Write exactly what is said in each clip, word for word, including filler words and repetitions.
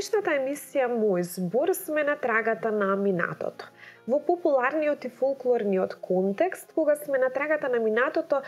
денешната емисија Мој збор сме на трагата на минатото. Во популарниот и фолклорниот контекст, кога сме на трагата на минатото,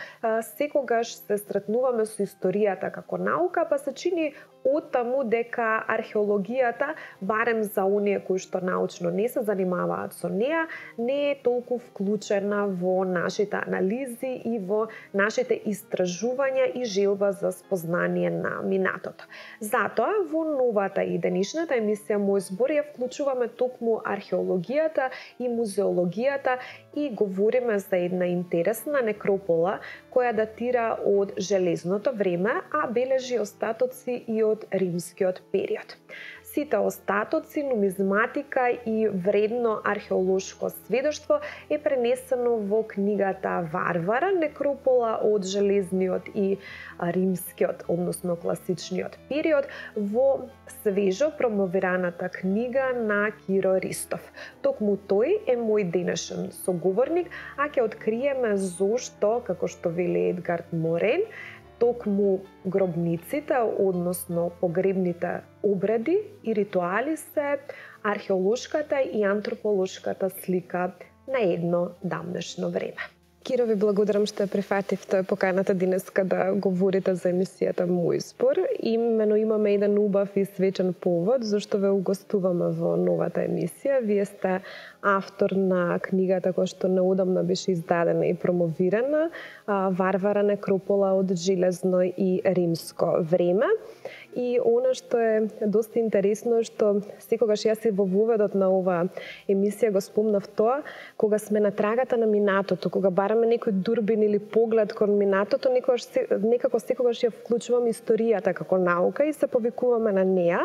секогаш се сретнуваме со историјата како наука, па се чини оттаму дека археологијата, барем за оние кои што научно не се занимаваат со неа, не е толку вклучена во нашите анализи и во нашите истражувања и желба за спознание на минатото. Затоа, во новата и денешната емисија Мој збор ја вклучуваме токму археологијата и музеологијата и говориме за една интересна некропола која датира од железното време, а бележи остатоци и од римскиот период. Сите остатоци, нумизматика и вредно археолошко сведоштво е пренесено во книгата Варвара, некропола од железниот и римскиот, односно класичниот период, во свежо промовираната книга на Киро Ристов. Токму тој е мој денешен соговорник, а ќе откриеме зошто, како што вели Едгар Морен, токму гробниците, односно погребните обреди и ритуали се археолошката и антрополошката слика на едно давнешно време. Киро, ви благодарам што прифативте поканата денеска да говорите за емисијата Мој збор. Имено имаме еден убав и свечен повод зашто ве угостуваме во новата емисија. Вие сте автор на книгата која што неодамна беше издадена и промовирана, Варвара, некропола од железно и римско време. И она што е доста интересно, што секогаш јас и во воведот на ова емисија го спомнав тоа, кога сме на трагата на минатото, кога бараме некој дурбин или поглед кон минатото, некогаш, некако секогаш ја вклучуваме историјата како наука и се повикуваме на неа.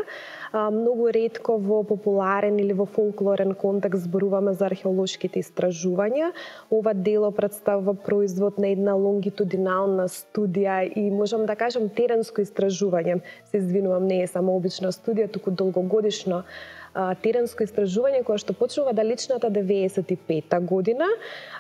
Многу ретко во популарен или во фолклорен контекст зборуваме за археолошките истражувања. Ова дело представува производ на една лонгитудинална студија и можам да кажам теренско истражување. Се извинувам, не е само обична студија, туку долгогодишно а, теренско истражување кое што почнува далечната деветдесет и пета година.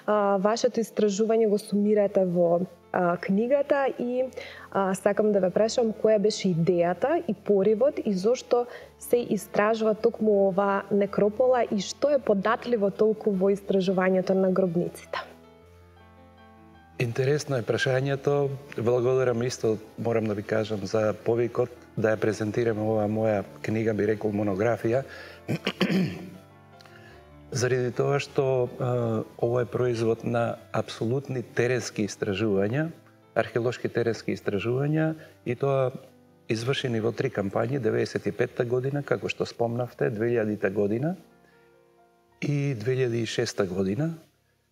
А, вашето истражување го сумирате во а, книгата и а, сакам да ве прашам која беше идејата и поривот и зошто се истражува токму ова некропола и што е податливо толку во истражувањето на гробниците. Интересно е прашањето. Благодарам исто, морам да ви кажам, за повикот да ја презентирам ова моја книга, би рекол монографија. Заради тоа што а, ова е производ на апсолутни теренски истражувања, археолошки теренски истражувања и тоа извршени во три кампањи, деветдесет и петта година, како што спомнавте, две илјадита година и две илјади и шеста година.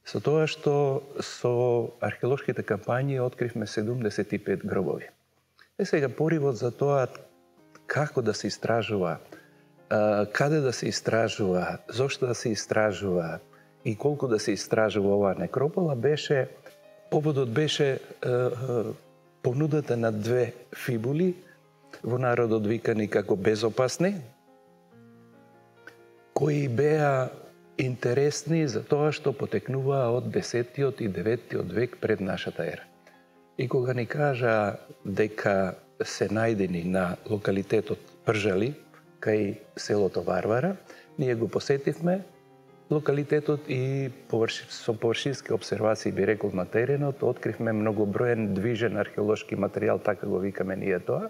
Со тоа што со археолошките кампањи откривме седумдесет и пет гробови. Е сега поривот за тоа како да се истражува, каде да се истражува, зошто да се истражува и колку да се истражува оваа некропола беше, поводот беше понудата на две фибули во народот викани како безопасни, кои беа интересни за тоа што потекнуваа од десеттиот и деветтиот век пред нашата ера. И кога ни кажа дека се најдени на локалитетот Пржали, кај селото Варвара, ние го посетивме локалитетот и површи, со површински обсервации, би рекол, на теренот, откривме многоброен движен археолошки материјал, така го викаме ние тоа.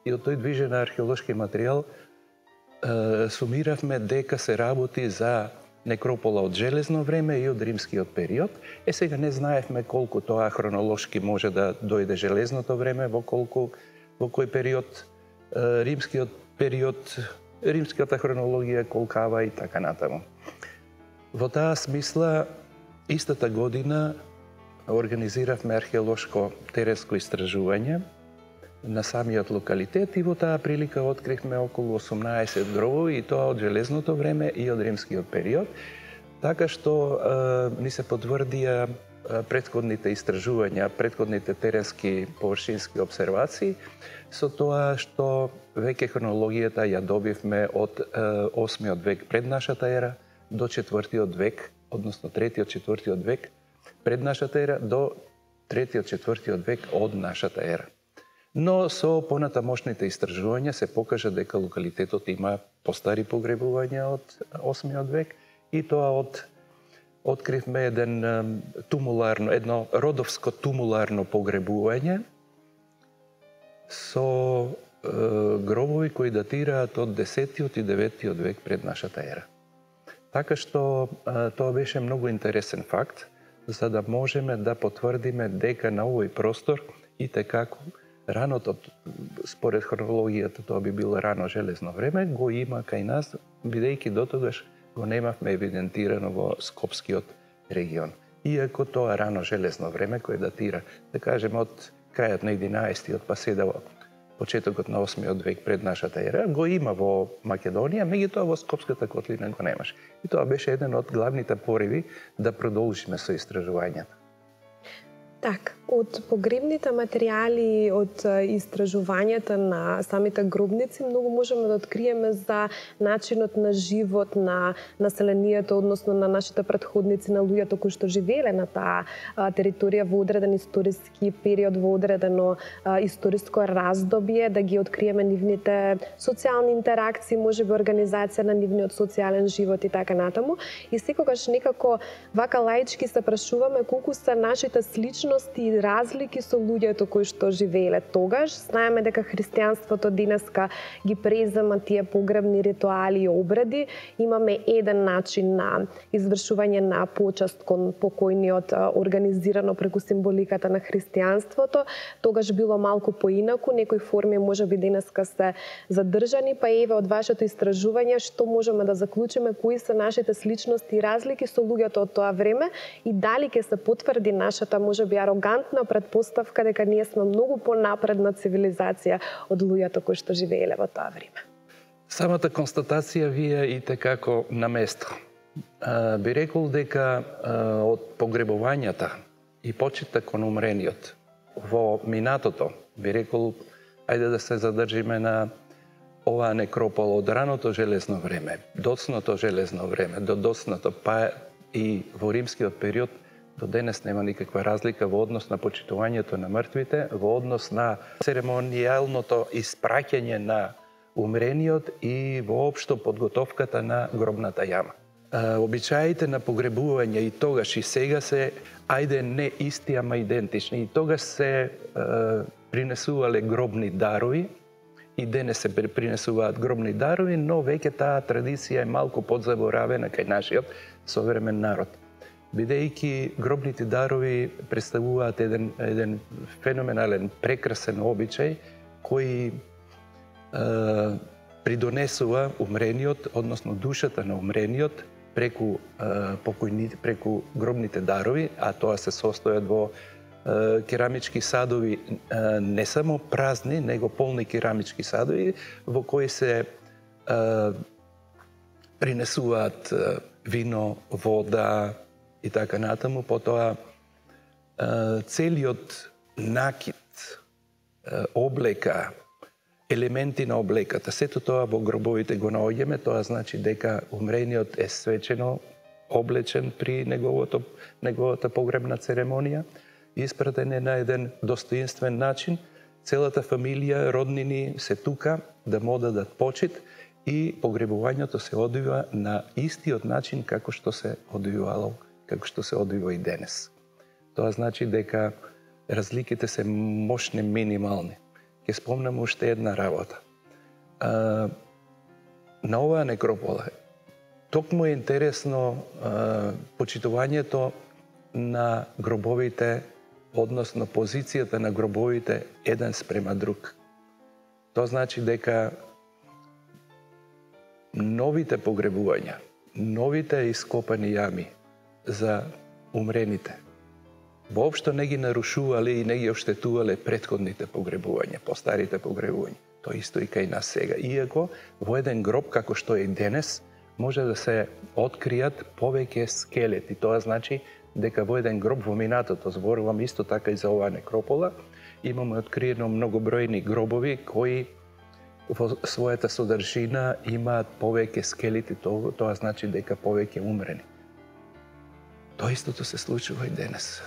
И од тој движен археолошки материјал е, сумиравме дека се работи за некропола од железно време и од римскиот период. Е сега не знаевме колку тоа хронолошки може да дојде железното време, во колку, во кој период, е, римскиот период, римската хронологија колкава и така натаму. Во таа смисла, истата година организиравме археолошко теренско истражување на самиот локалитет и во таа прилика откривме околу осумнаесет гробови и тоа од железното време и од римскиот период, така што е, ни се потврдија претходните истражувања, претходните теренски површински обсервации, со тоа што веќе хронологијата ја добивме од е, осмиот век пред нашата ера до четвртиот век, односно третиот, четвртиот век пред нашата ера до третиот, четвртиот век од нашата ера. Но со понатамошните истражувања се покажа дека локалитетот има постари погребувања од осмиот век и тоа од откривме еден тумуларно, едно родовско тумуларно погребување со е, гробови кои датираат од десетиот и деветиот век пред нашата ера. Така што е, тоа беше многу интересен факт, за да можеме да потврдиме дека на овој простор и текако раното, според хронологијата тоа би било рано железно време, го има кај нас, бидејќи дотогаш го немавме евидентирано во Скопскиот регион. Иако тоа рано железно време кој датира, да кажеме, од крајот на единаесеттиот па се до почетокот на осмиот век пред нашата ера, го има во Македонија, меѓутоа во Скопската котлина го немаше. И тоа беше еден од главните пориви да продолжиме со истражувањата. Так, од погребните материјали, од истражувањата на самите гробници, многу можеме да откриеме за начинот на живот на населението, односно на нашите претходници, на луѓето кои што живееле на таа територија во одреден историски период, во одредено историско раздобје, да ги откриеме нивните социјални интеракции, можеби организација на нивниот социјален живот и така натаму. И секогаш некако вака лаички се прашуваме колку се нашите сличности и разлики со луѓето кои што живееле тогаш. Знаеме дека христијанството денеска ги презема тие погребни ритуали и обреди. Имаме еден начин на извршување на почаст кон покојниот, организирано преку символиката на христијанството. Тогаш било малку поинаку, некои форми можеби денеска се задржани, па еве од вашето истражување што можеме да заклучиме, кои се нашите сличности и разлики со луѓето од тоа време и дали ќе се потврди нашата можеби арогантна предпоставка дека ние сме многу понапредна цивилизација од луѓето кои што живееле во тоа време. Самата констатација вие и текако на место. А, би рекол дека а, од погребувањата и почитта кон умрениот во минатото, би рекол, ајде да се задржиме на оваа некропола од раното железно време, доцното железно време, до доцното, па и во римскиот период, до денес нема никаква разлика во однос на почитувањето на мртвите, во однос на церемонијалното испраќање на умрениот и воопшто подготовката на гробната јама. Обичаите на погребување и тогаш и сега се, ајде не исти, ама идентични. И тогаш се е, принесувале гробни дарови, и денес се принесуваат гробни дарови, но веќе таа традиција е малку подзаборавена кај нашиот современ народ. Бидејќи гробните дарови представуваат еден, еден феноменален, прекрасен обичај кој е, придонесува умрениот, односно душата на умрениот преку е, покојни, преку гробните дарови, а тоа се состојат во е, керамички садови, е, не само празни, него полни керамички садови во кои се е, принесуваат е, вино, вода и така натаму. Потоа целиот накид, облека, елементи на облеката, сето тоа во гробовите го наоѓаме, тоа значи дека умрениот е свечено облечен при неговото, неговата погребна церемонија, испратен е на еден достоинствен начин, целата фамилија, роднини се тука да му дадат почит и погребувањето се одвива на истиот начин како што се одвивало, како што се одвива и денес. Тоа значи дека разликите се мощни, минимални. Ќе спомнам уште една работа. А, на оваа некропола токму е интересно а, почитувањето на гробовите, односно позицијата на гробовите еден спрема друг. Тоа значи дека новите погребувања, новите ископани јами за умрените воопшто не ги нарушувале и не ги оштетувале претходните погребувања, постарите погребувања. Тоа исто и кај нас сега. Иако во еден гроб, како што е и денес, може да се откријат повеќе скелети. Тоа значи дека во еден гроб во минатото, зборувам исто така и за оваа некропола, имаме откриено многобројни гробови кои во својата содржина имаат повеќе скелети, тоа, тоа значи дека повеќе умрени. Тоа истото се случува и денес.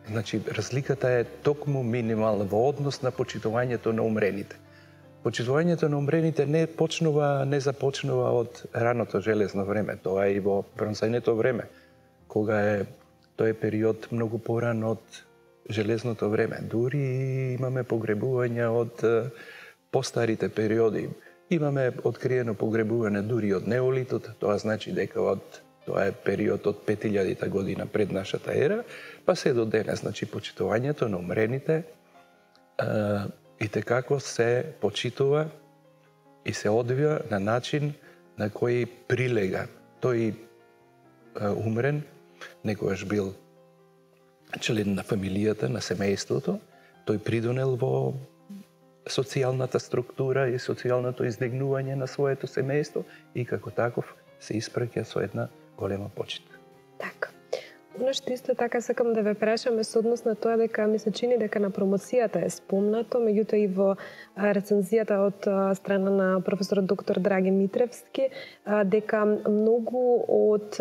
Значи, разликата е токму минимална во однос на почитувањето на умрените. Почитувањето на умрените не почнува, не започнува од раното железно време, тоа е и во бронзајното време, кога е тој период многу поран од железното време. Дури имаме погребувања од постарите периоди. Имаме откриено погребување дури од неолитот, тоа значи дека од тоа е период од пет илјади година пред нашата ера, па се до денес. Значи, почитувањето на умрените и текако се почитува и се одвива на начин на кој прилега. Тој умрен некогаш бил член на фамилијата, на семејството, тој придонел во социјалната структура и социјалното издигнување на своето семејство и како таков се испраќа со една голема почит. Така. Оно што исто така сакам да ве прашаме со однос на тоа дека ми се чини дека на промоцијата е спомнато, меѓутоа и во рецензијата од страна на професор доктор Драги Митревски, дека многу од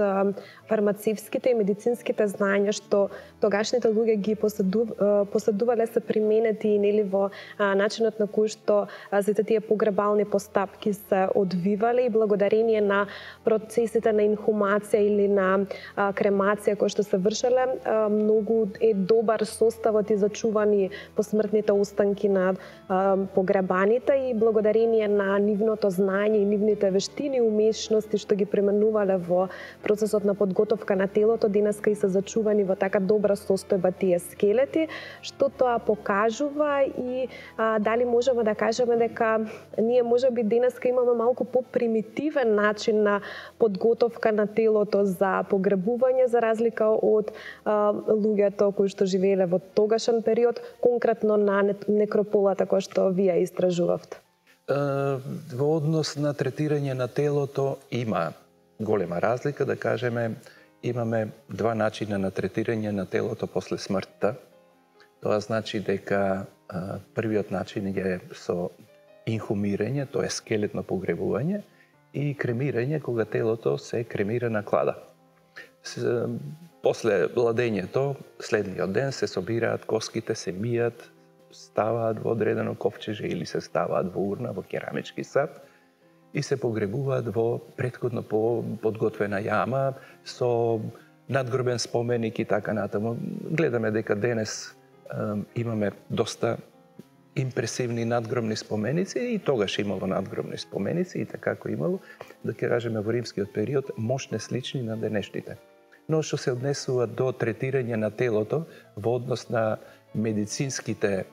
фармацевските и медицинските знаења што тогашните луѓе ги поседувале се применети нели во начинот на кој што сите тие погребални постапки се одвивале и благодарение на процесите на инхумација или на кремација кој што се вршеле, многу е добар составот и зачувани посмртните останки на погребаните и благодарение на нивното знаење и нивните вештини и умешности што ги применувале во процесот на подготовка на телото, денеска и се зачувани во така добра состојба тие скелети, што тоа покажува и а, дали можеме да кажеме дека ние можеби денеска имаме малку попримитивен начин на подготовка на телото за погребување за разлика од а, луѓето кои што живееле во тогашен период, конкретно на некрополата која што вие истражувавте? Во однос на третирање на телото има голема разлика, да кажеме, имаме два начина на третирање на телото после смртта. Тоа значи дека а, првиот начин е со инхумирање, тоа е скелетно погребување, и кремирање, кога телото се кремира на клада. С, после ладењето, следниот ден се собираат коските, се мијат, ставаат во одредено ковчеже или се ставаат во урна, во керамички сад и се погребуваат во претходно подготвена јама со надгробен споменик и така натаму. Гледаме дека денес е, имаме доста импресивни надгробни споменици и тогаш имало надгробни споменици и така како имало, да ќе кажеме во римскиот период, мощне слични на денешните. Но што се однесува до третирање на телото во однос на медицинските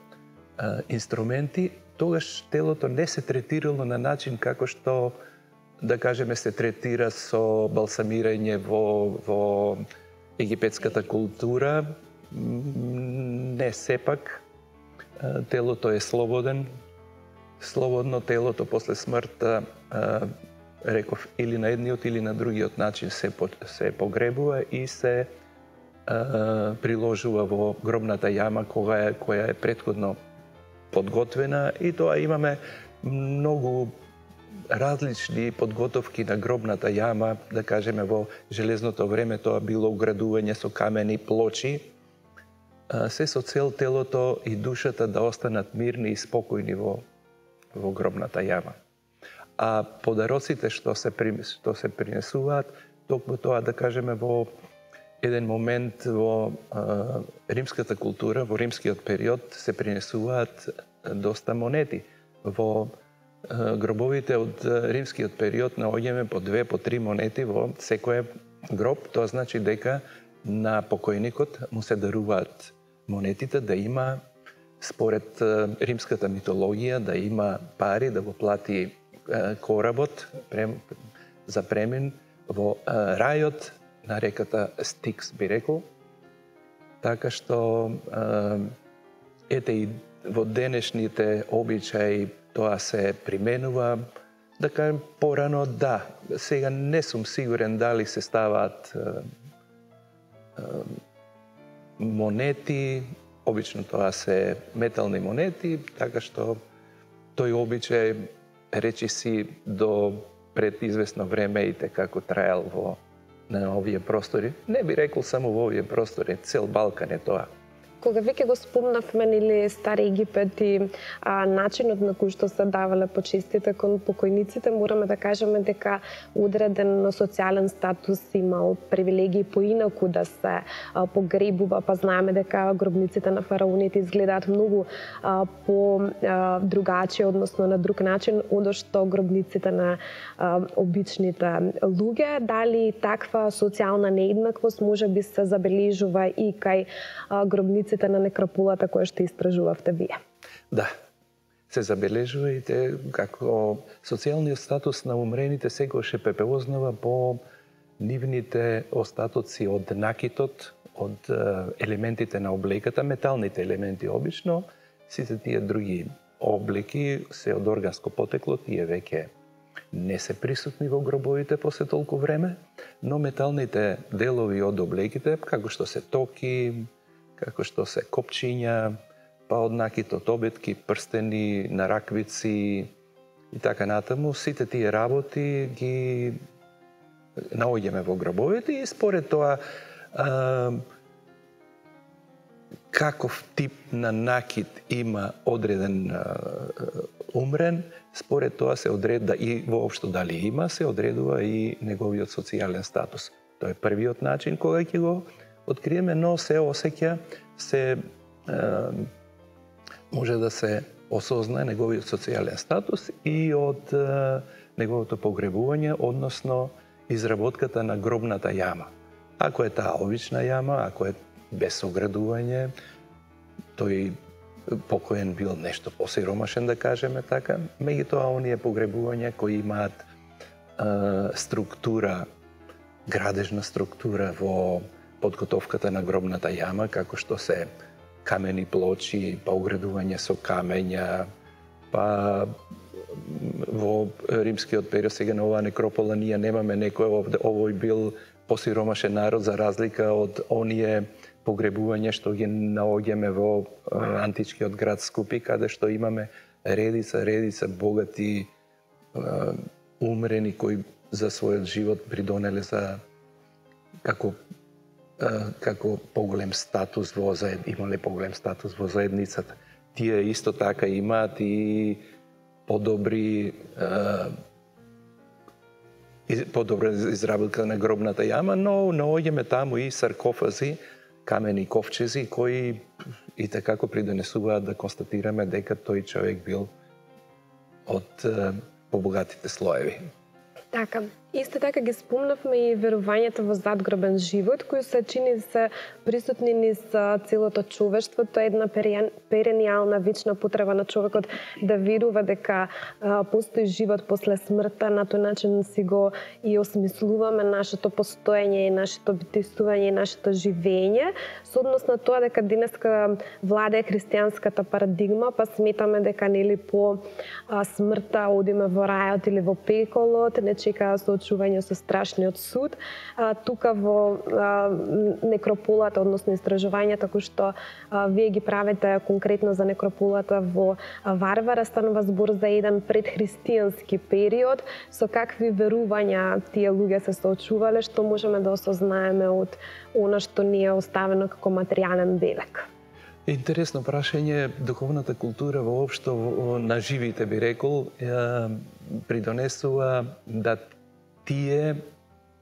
а, инструменти, тогаш телото не се третирало на начин како што, да кажеме, се третира со балсамирање во, во египетската култура. Не, сепак, телото е слободен. Слободно телото после смртта, реков, или на едниот или на другиот начин се, се погребува и се а, приложува во гробната јама која е, која е претходно подготвена, и тоа имаме многу различни подготовки на гробната јама, да кажеме во железното време тоа било уградување со камени плочи, се со цел телото и душата да останат мирни и спокојни во, во гробната јама. А подароците што се, што се принесуваат, токму тоа, да кажеме, во еден момент во а, римската култура, во римскиот период, се принесуваат доста монети. Во а, гробовите од римскиот период наоѓаме по две, по три монети во секој гроб. Тоа значи дека на покојникот му се даруваат монетите, да има, според а, римската митологија, да има пари, да го плати а, коработ прем, за премин во а, рајот на реката Стикс, би рекол. Така што, а, ете и во денешните обичаи тоа се применува, да кажем, порано да. Сега не сум сигурен дали се ставаат а, а, монети, обично тоа се метални монети, така што тој обичај, речи си, до пред известно време и како траел во на овие простори. Не би рекол само во овие простори, цел Балкан е тоа. Кога веќе го спомнавме нели Стар Египет и а, начинот на кој што се давале почестите кон покојниците, мораме да кажеме дека одреден социјален статус имал привилегии поинаку да се а, погребува, па знаеме дека гробниците на фараоните изгледаат многу а, по а, другачи, односно на друг начин одошто гробниците на а, обичните луѓе. Дали таква социјална нееднаквост може би се забележува и кај а, гробниците на некрополата која што истражувавте вие? Да, се забележува и те како социјалниот статус на умрените секогаш е препознава по нивните остатоци од накитот, од елементите на облеката, металните елементи обично, сите тие други облеки се од органско потекло, тие веќе не се присутни во гробовите после толку време, но металните делови од облеките, како што се токи, како што се копчиња, па од накитот обетки, прстени, нараквици и така натаму, сите тие работи ги наоѓаме во гробовите и според тоа а, каков тип на накит има одреден а, умрен, според тоа се одреда и воопшто дали има, се одредува и неговиот социјален статус. Тоа е првиот начин кога ќе го откриеме, но се осеќа, се е, може да се осознае неговиот социјален статус и од е, неговото погребување, односно изработката на гробната јама. Ако е таа обична јама, ако е без оградување, тој покоен бил нешто посиромашен, да кажеме така, меѓутоа оние погребувања кои имаат е, структура, градежна структура во подготовката на гробната јама, како што се камени плочи, па оградување со камења, па во римскиот период, сега на оваа некропола, ние немаме некој овде, овој бил посиромашен народ за разлика од оние погребувања што ги наоѓаме во античкиот град Скупи, каде што имаме редица, редица богати умрени кои за својот живот придонеле за како како поголем статус во заед, имале поголем статус во заедницата. Тие исто така имаат и подобри подобра изработка на гробната јама, но наоѓаме таму и саркофази, камени ковчези кои и такако придонесуваат да констатираме дека тој човек бил од побогатите слоеви. Така, исто така ги спомнавме и верувањето во задгробен живот, кои се чини се присутни низ целото човештво. Тоа е една перениална вечна потреба на човекот да верува дека а, постои живот после смртта. На тој начин си го и осмислуваме нашето постоење и нашето битествување и нашето живење. Со однос на тоа дека денеска владее христијанската парадигма, па сметаме дека нели по а, смртта одиме во рајот или во пеколот, не чека соочување со страшниот суд. А, тука во а, некрополата, односно истражувањата кои што а, вие ги правите конкретно за некрополата во а, Варвара, станува збор за еден предхристијански период. Со какви верувања тие луѓе се соочувале, што можеме да осознаеме од она што ни е оставено како материјален белег? Интересно прашање. Духовната култура воопшто на живите, би рекол, придонесува да тие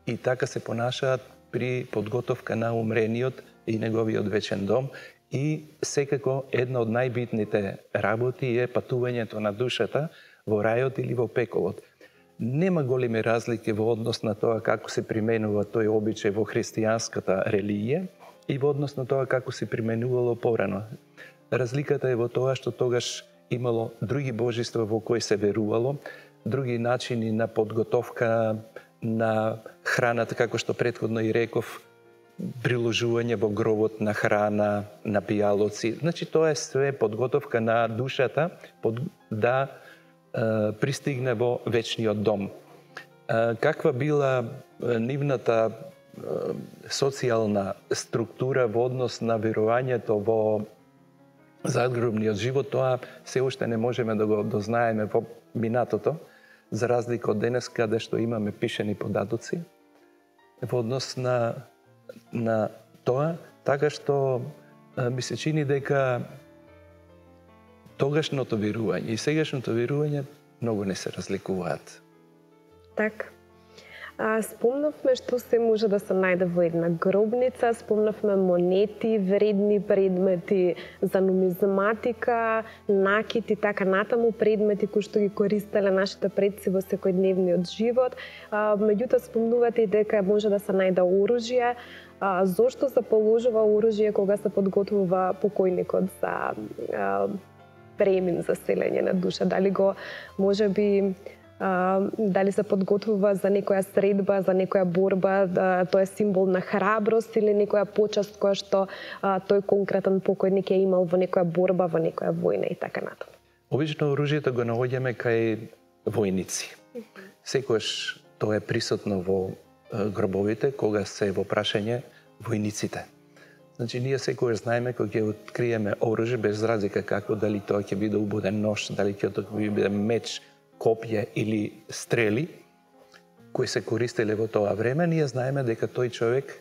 и така се понашаат при подготовка на умрениот и неговиот вечен дом. И секако една од најбитните работи е патувањето на душата во рајот или во пеколот. Нема големи разлики во однос на тоа како се применува тој обичај во христијанската религија и во однос на тоа како се применувало порано. Разликата е во тоа што тогаш имало други божества во кои се верувало, други начини на подготовка на храната, како што претходно и реков, приложување во гробот на храна, на пијалоци. Значи, тоа е све подготовка на душата под, да е, пристигне во вечниот дом. Е, каква била нивната социјална структура во однос на верувањето во задгробниот живот, тоа се уште не можеме да го дознаеме во минатото, за разлика од денес каде што имаме пишени податоци во однос на, на тоа, така што ми се чини дека тогашното верување и сегашното верување многу не се разликуваат. Така. А, спомнавме што се може да се најде во една гробница, спомнавме монети, вредни предмети за нумизматика, накити, така натаму предмети кои што ги користеле нашите предци во секојдневниот живот. А, меѓутоа спомнувате и дека може да се најде оружје. А, зошто се положува оружје кога се подготвува покојникот за а, премин, за селење на душа? Дали го можеби Uh, дали се подготвува за некоја средба, за некоја борба, да, тоа е символ на храброст или некоја почаст која што uh, тој конкретен покојник е имал во некоја борба, во некоја војна и така натаму. Обично оружјето го наоѓаме кај војници. Секогаш тоа е присутно во гробовите кога се во прашање војниците. Значи ние секогаш знаеме кога ќе откриеме оружје без разлика како, дали тоа ќе биде убоден нож, дали ќе тоа биде меч, копје или стрели кои се користеле во тоа време, ние знаеме дека тој човек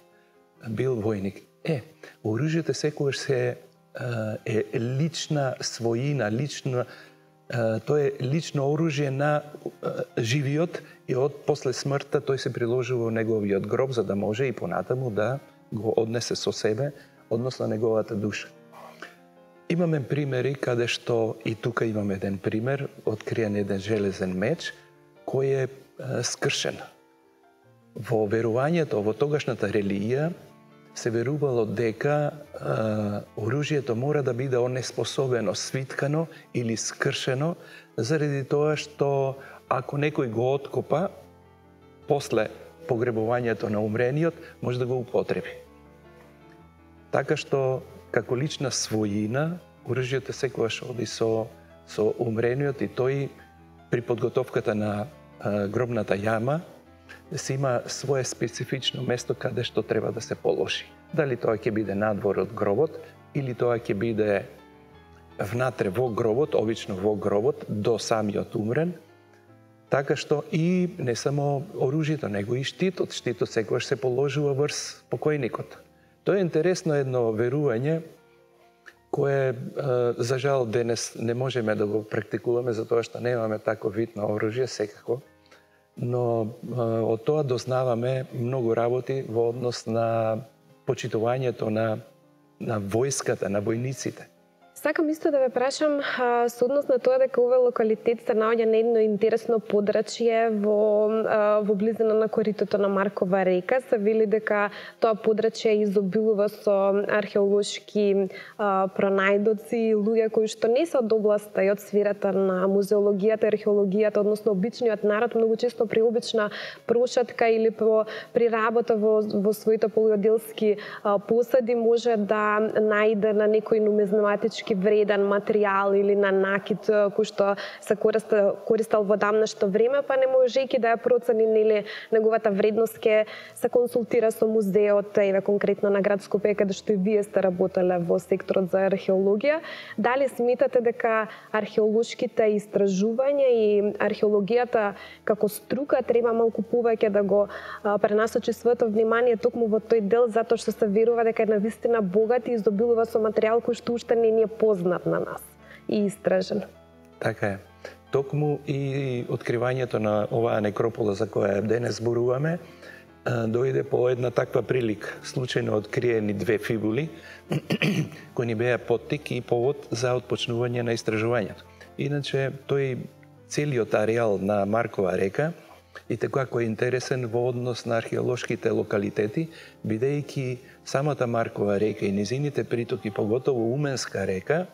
бил војник. Е, оружјето секогаш се е лична својина, лична, тоа е лично оружје на живиот и од после смртта тој се приложува во неговиот гроб за да може и понатаму да го однесе со себе, односно неговата душа. Имаме примери каде што и тука имаме еден пример, откриен еден железен меч кој е, е скршен. Во верувањето, во тогашната религија се верувало дека е, оружјето мора да биде онеспособено, свиткано или скршено заради тоа што ако некој го откопа после погребувањето на умрениот може да го употреби. Така што како лична својина, оружјето секогаш оди со, со умрениот и тој при подготовката на а, гробната јама се има свое специфично место каде што треба да се положи. Дали тоа ќе биде надвор од гробот или тоа ќе биде внатре во гробот, обично во гробот, до самиот умрен, така што и не само оружјето, него и штитот. Штитот секогаш се положува врз покојникот. Тоа е интересно едно верување кое, за жал, денес не можеме да го практикуваме затоа што немаме таков вид на оружје секако, но од тоа дознаваме многу работи во однос на почитувањето на, на војската, на војниците. Сакам исто да ве прашам со однос на тоа дека овој локалитет се наоѓа на едно интересно подрачје во, во близина на коритото на Маркова река. Се вели дека тоа подрачје изобилува со археолошки а, пронајдоци и луѓе кои што не се од областа и од сферата на музеологијата и археологијата, односно обичниот народ, многу често при обична прошатка или по, при работа во, во своите полуоделски а, посади може да најде на некој нумизматички вреден материјал или на накит кој што се користел, користел во дамнешто време, па не можејќи да ја процени нели неговата вредност, ке се консултира со музеот, еве конкретно на град Скопје, каде што и вие сте работеле во секторот за археологија. Дали сметате дека археолошките истражувања и археологијата како струка треба малку повеќе да го пренасочи своето внимание токму во тој дел, затоа што се верува дека е навистина богат и изобилува со материјал кој што уште не ни е познат на нас и истражен. Така е. Токму и откривањето на оваа некропола за која денес зборуваме, дојде по една таква прилика. Случајно откриени две фибули кои ни беа поттик и повод за отпочнување на истражувањето. Иначе тој целиот ареал на Маркова река и како е интересен во однос на археолошките локалитети, бидејќи самата Маркова река и низините притоки, поготово Уменска река,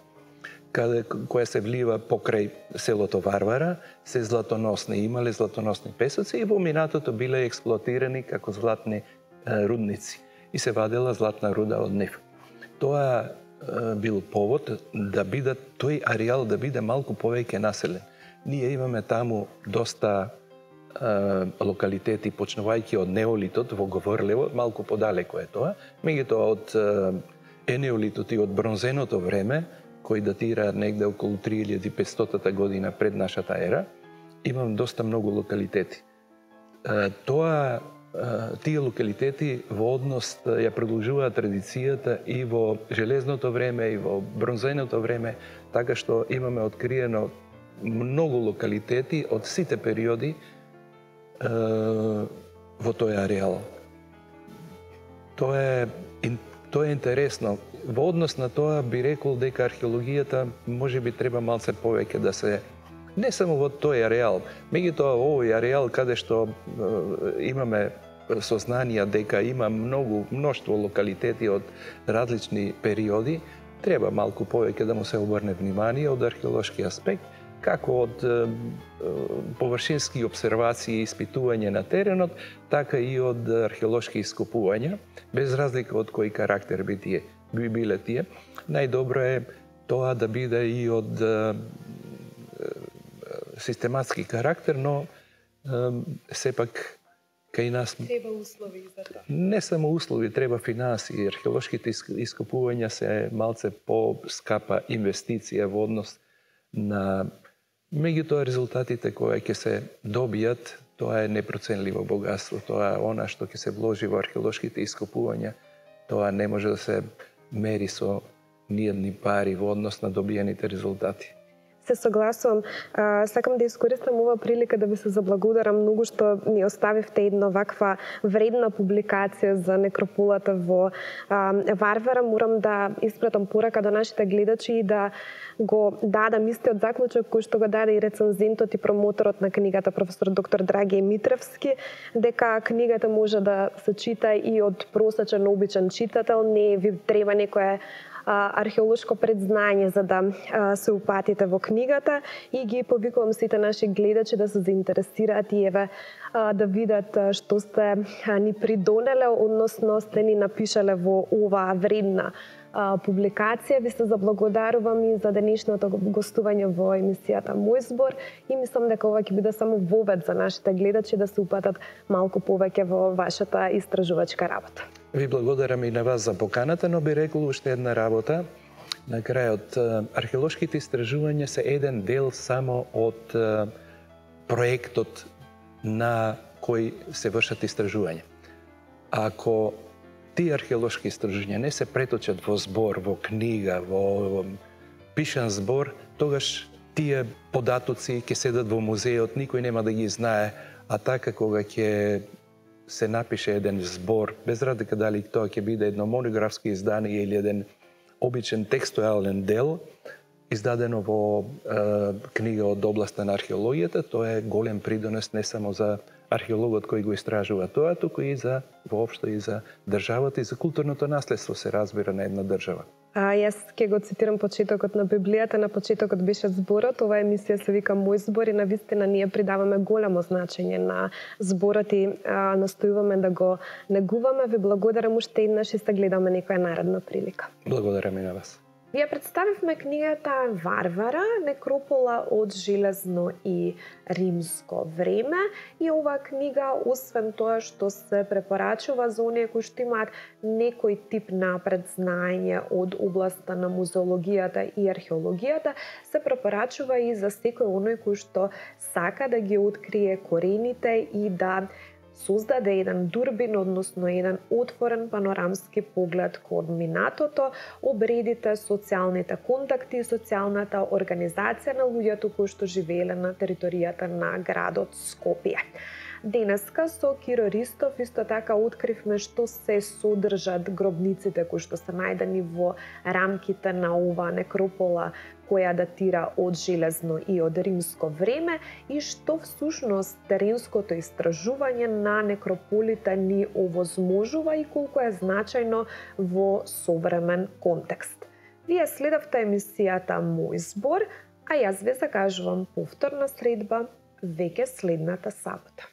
каде, која се влива покрај селото Варвара, се златоносни, имале златоносни песоци и во минатото биле експлоатирани како златни е, рудници и се вадела златна руда од нив. Тоа е, бил повод да биде тој ареал да биде малку повеќе населен. Ние имаме таму доста локалитети, почнувајќи од неолитот во Говорлево, малку подалеку е тоа, меѓутоа од енеолитот и од бронзеното време, кој датира негде околу три илјади и петстотина година пред нашата ера, имам доста многу локалитети. Тоа тие локалитети во однос ја продолжуваат традицијата и во железното време и во бронзеното време, така што имаме откриено многу локалитети од сите периоди во тој ареал. Тоа е тоа е интересно. Во однос на тоа би рекол дека археологијата можеби треба малце повеќе да се не само во тој ареал, меѓутоа овој ареал каде што имаме сознанија дека има многу мноштво локалитети од различни периоди, треба малку повеќе да му се обрне внимание од археолошки аспект, како од површински обсервации и испитување на теренот, така и од археолошки ископувања, без разлика од кој карактер би тие би биле тие. Најдобро е тоа да биде и од систематски карактер, но сепак кај нас треба услови за тоа. Не само услови, треба финансии. Археолошките ископувања се малце по-скапа инвестиција во однос на меѓутоа резултатите кои ќе се добијат, тоа е непроценливо богатство. Тоа е она што ќе се вложи во археолошките ископувања. Тоа не може да се мери со ниедни пари во однос на добиените резултати. Се согласувам. Сакам да искористам ова прилика да ви се заблагодарам многу што ни оставивте една ваква вредна публикација за некрополата во Варвара. Морам да испратам порака до нашите гледачи и да го дадам истиот заклучок кој што го даде и рецензентот и промоторот на книгата професор доктор Драгије Митревски, дека книгата може да се чита и од просечен обичен читател, не ви треба некое археолошко предзнање за да се упатите во книгата, и ги повикувам сите наши гледачи да се заинтересираат и еве да видат што сте ни придонеле, односно сте ни напишале во оваа вредна публикација. Ви се заблагодарувам и за денешното гостување во емисијата Мој збор и мислам дека ова ќе биде само вовед за нашите гледачи да се упатат малку повеќе во вашата истражувачка работа. Ви благодарам и на вас за поканата, но би рекол уште една работа. На крајот, археолошките истражувања се еден дел само од проектот на кој се вршат истражувања. Ако тие археолошки истражувања не се преточат во збор, во книга, во пишан збор, тогаш тие податоци ќе седат во музеот, никој нема да ги знае, а така кога ќе се напише еден збор, без разлика дали тоа ќе биде едно монографско издание или еден обичен текстуален дел, издадено во е, книга од областа на археологијата, тоа е голем придонес не само за археологот кој го истражува тоа, туку и за воопшто и за државата и за културното наследство, се разбира, на една држава. А, јас ќе го цитирам почетокот на Библијата, на почетокот беше зборот. Ова емисија се вика Мој збор и навистина ние придаваме големо значење на зборот и а, настојуваме да го негуваме. Ви благодарам уште еднаш и се гледаме некоја наредна прилика. Благодарам и на вас. Ви ја представивме книгата Варвара, некропола од железно и римско време, и оваа книга, освен тоа што се препорачува за оние кои што имаат некој тип напред знаење од областа на музеологијата и археологијата, се препорачува и за секој оној кој што сака да ги открие корените и да создаде еден дурбин, односно еден отворен панорамски поглед кон минатото, обредите, социјалните контакти и социјалната организација на луѓето кои што живееле на територијата на градот Скопје. Денеска со Киро Ристов исто така откривме што се содржат гробниците кои што се најдени во рамките на оваа некропола која датира од железно и од римско време и што всушност теренското истражување на некрополите ни овозможува и колку е значајно во современ контекст. Вие следавте емисијата Мој збор, а јас ве закажувам повторна средба веќе следната сабота.